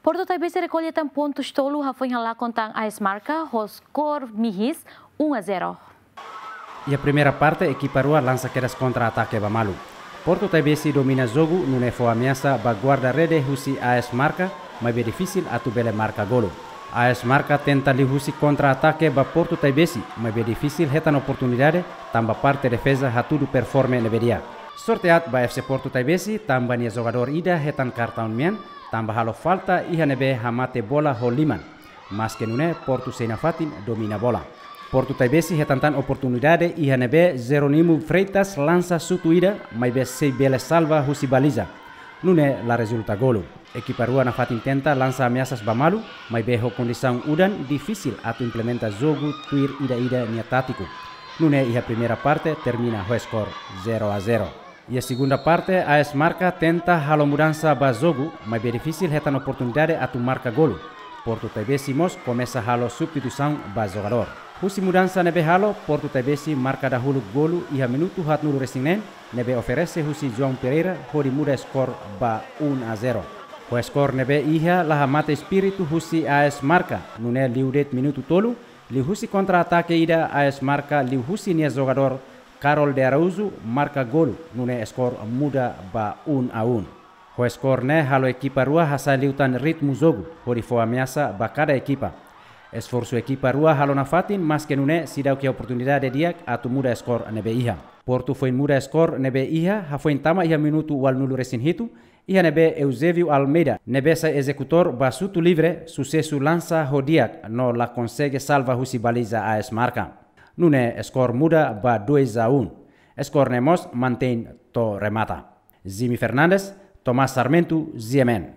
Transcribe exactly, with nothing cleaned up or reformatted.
Portu Taibesi rekolla tan pontus tolu hafoin halakon tan AS Marka ho skor mihis um a zero. Iha primeira parte, ekipa rua lansa kedas kontra-atake ba malu. Portu Taibesi domina jogu, nune'e fó ameasa ba guarda-rede husi AS Marka, maibé difisil atu bele marka golu. AS Marka tenta liuhusi kontra-atake ba Portu Taibesi, maibé difisil hetan oportunidade, tanba parte defeza hatudu performe ne'ebé di'ak. Sorte aat ba FC Portu Taibesi, tanba nia jogadór ida hetan kartaun mean, tanba halo falta iha ne'ebé hamate bola ho liman. Maske nune'e, Portu sei nafatin domina bola. Portu Taibesi hetan tan oportunidade iha ne'ebé Jerónimo Freitas lansa xutu ida, maibé sei bele salva husi baliza. Nune'e la rezulta golu. Ekipa rua nafatin tenta lansa ameasas ba malu, maibé ho kondisaun udan difisil atu implementa jogu tuir ida-ida nia tátiku. Nune'e iha primeira parte termina ho skor zero a zero. Iha segunda parte, AS Marka tenta halo mudansa ba jogu, maibé difisil hetan oportunidade atu marka golu. Portu Taibesi mós komesa halo substituisaun ba jogadór. Husi mudansa ne'ebé halo, Portu Taibesi marka dahuluk golu iha minutu haatnulu-resin-neen, ne'ebé oferese husi João Pereira hodi muda skor ba um a zero. Ho skor ne'ebé iha, la hamate espíritu husi AS Marka, nune'e liu de'it minutu tolu, liuhusi kontra-atake ida AS Marka liuhusi nia jogadór Carol de Araújo marka golu, nune'e skor muda ba um a um. Ho skor ne'e halo ekipa rua hasai liután ritmu jogu, hodi fó ameasa ba kada ekipa. Esforsu ekipa rua halo nafatin, maske nune'e seidauk iha oportunidade di'ak atu muda skor ne'ebé iha. Portu foin muda skor ne'ebé iha, hafoin tama iha minutu ualunulu-resin-hitu, iha ne'ebé Eusébio Almeida, ne'ebé sai ezekutór ba xutu livre, susesu lansa ho di'ak, no la konsege salva husi baliza AS Marka. Nune'e skor muda ba dois a um. Skor ne'e mós mantein to'o remata. Jimmy Fernandes, Tomás Sarmento, G M N.